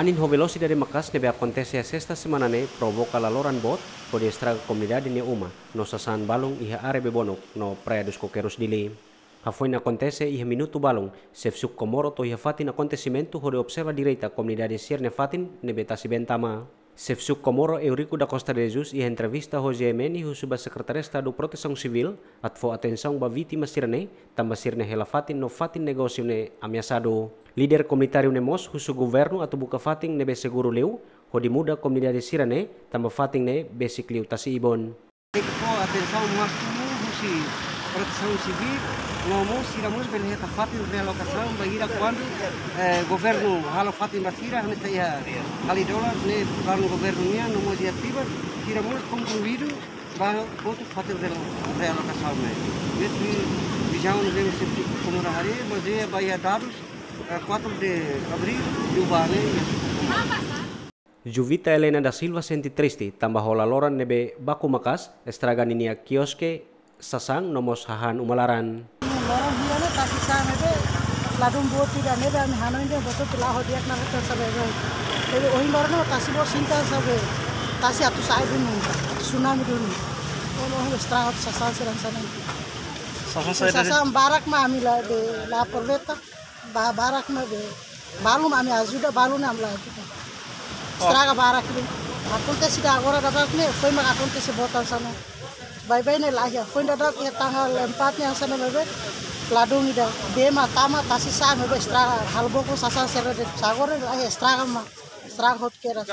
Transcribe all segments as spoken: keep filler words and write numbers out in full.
Anin ho velosidade maka'as ne'ebé akontese iha sesta semana ne'e provoka laloran boot hodi estraga komunidade nia uma no sasán balun iha área Bebonuk no Praia dos Coqueiros, Dili. Hafoin akontese iha minutu balun, xefe suku Comoro to'o iha fatin akontesimentu hodi observa direta komunidade sira-nia fatin ne'ebé tasi-been tama. Xefe suku Comoro Eurico da Costa de Jesus iha entrevista ho G M N husu ba Sekretaria Estadu Protesaun Sivíl atu fó atensaun ba vítima sira-ne'e, tanba sira-nia hela fatin no fatin negósiu ne'e ameasadu. Líder komunitáriu ne'e mós husu governu atu buka fatin ne'ebé seguru liu hodi muda komunidade sira-ne'e, tanba fatin ne'e besik liu tasi-ibun. Tenke fó atensaun másimu husi Protesaun Sivíl, no mós sira mós bele hetan fatin realokasaun bainhira kuandu, eh, governu halo fatin ba sira, hanesan iha Hali Dolar, ne'e planu governu nian, no mós iha Tibar, sira mós konkluídu ba hotu fatin realo-, realokasaun ne'e. Ne'e tuir vizaun ne'ebé xefe suku Comoro haree, bazeia ba iha dadus, eh, quatro de abril, liubá ne'e, iha suku Comoro. Juvita Helena da Silva sente triste, tanba ho laloran ne'ebé baku maka'as, estraga ninia kioske, sasán no mós hahán uma laran. Loron hira ne'e tasi sa'e ne'ebé, ladún boot ida ne'ebé ami hanoin dehan boot atu la'o di'ak ona katak sabe be. Jadi ohin loron ne'e tasi boot sinta sabe, tasi atu sa'e duni, atu tsunami duni. Ohin, ohin estraga atu sasán sira hanesan ne'e. Sasán sa'e dari sasán barak mak ami la, be, la aproveita. Ba-, barak mak be, balun ami ajuda, balun ami la ajuda. Oh. Estraga barak liu. Akontese ida agora daudauk ne'e, foin mak akontese boot hanesan ne'e. Baibain ne'e la iha, foin daudauk iha tanggal empat ne'e hanesan ne'e baibain. Ladún ida, bee mak tama, tasi sa'e mak be estraga. Halo bokur sasán sira de'it, agora la iha, estraga mak. Estraga hotu kedas.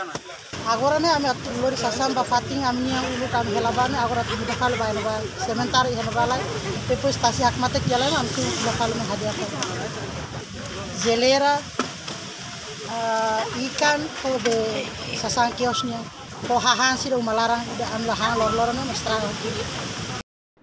Agora ne'e ami atu lori sasán ba fatin ami-nia uluk ami hela ba ne'e, agora atu muda fali ba iha ne'ebá, sementara iha ne'ebá lai. Depois tasi hakmatek iha lai mak ami atu muda fali mai hadi'a fali. Jeleira, ah, ikan, ho be sasán kios nian. Ho hahán sira uma laran, ida ami la han lor-loron ne'e estraga hotu.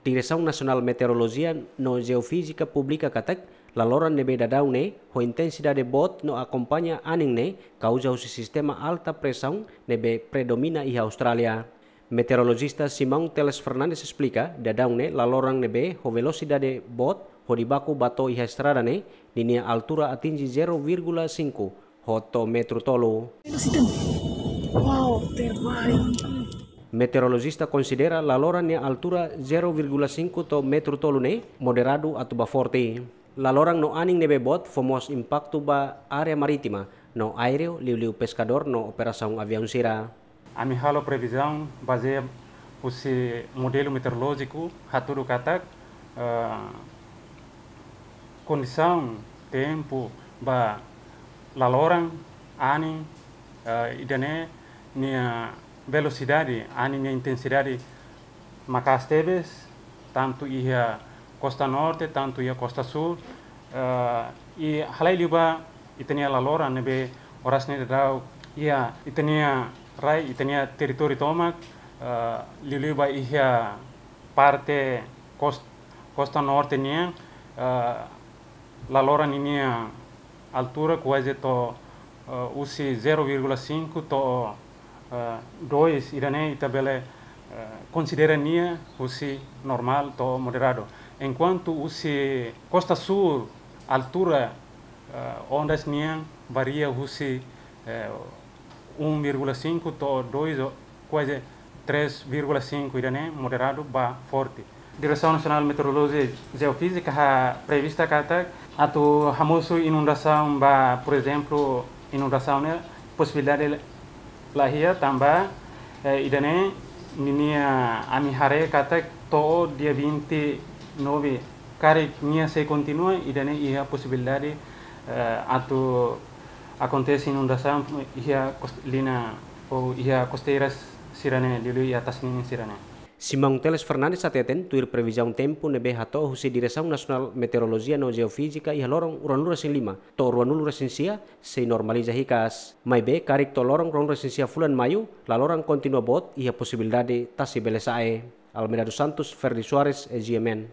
Diresaun Nasionál Meteorolojia no Jeofízika publika katak, laloran ne'ebé daudaun ne'e, ho intensidade boot no akompaña anin ne'e, kauza husi sistema alta presaun ne'ebé predomina iha Austrália. Meteorolojista Simão Teles Fernandes esplika, daudaun ne'e laloran ne'ebé ho velosidade boot, hodi baku ba to'o iha estrada ne'e, ninia altura atinje zero vírgula cinco, ho to'o metru tolu. Wow, terbaik. Meteorolojista konsidera laloran nia altura zero vírgula cinco to'o metru tolu ne'e moderadu atu ba forte. Laloran no anin ne'ebé boot fó mós impaktu ba área marítima no aéreu, liuliu peskadór no operasaun aviaun sira. Ami halo previzaun bazeia husi modelu meteorolójiku hatudu katak, eh, kondisaun tempu ba laloran, anin, eh, ida-ne'e nia velosidade, anin nia intensidade maka'as tebes, tantu iha kosta norte, tantu iha kosta súl, eh, i halai liu ba ita-nia laloran ne'ebé oras ne'e daudaun iha ita-nia rai, ita-nia territóriu tomak, eh, liuliu ba iha parte kos-, kosta norte nian, eh, laloran ninia altura kuaze to'o, eh, husi zero vírgula cinco to'o, eh, dois, ida-ne'e ita bele, eh, konsidera nia husi normál to'o moderadu. Enkuantu husi kosta súl altura, eh, ondas nian varia husi, eh, um vírgula cinco to'o dois, ou kuaze três vírgula cinco, ida-ne'e moderadu ba forte. Diresaun Nasionál Meteorolojia Jeofízika halo prevista katak atu hamosu inundasaun ba, por ezemplu, inundasaun ne'e posibilidade la iha tanba, eh, ida-ne'e ninia ami haree katak to'o dia vinte e nove karik nia sei kontinua, ida-ne'e iha posibilidade, eh, atu akontese inundasaun iha kos-, liña ou iha kosteiras sira-ne'e, liuliu iha tasi-ninin sira-ne'e. Simão Teles Fernandes hateten, tuir previzaun tempu ne'ebé hato'o husi Diresaun Nasionál Meteorolojia no Jeofízika iha loron ruanulu-resin-lima to'o ruanulu-resin-sia, sei normaliza hikas. Maibé, karik to'o loron ruanulu-resin-sia fulan Maiu, laloran kontinua boot, iha posibilidade tasi bele sa'e. Almeida dos Santos, Ferdi Soares, G M N.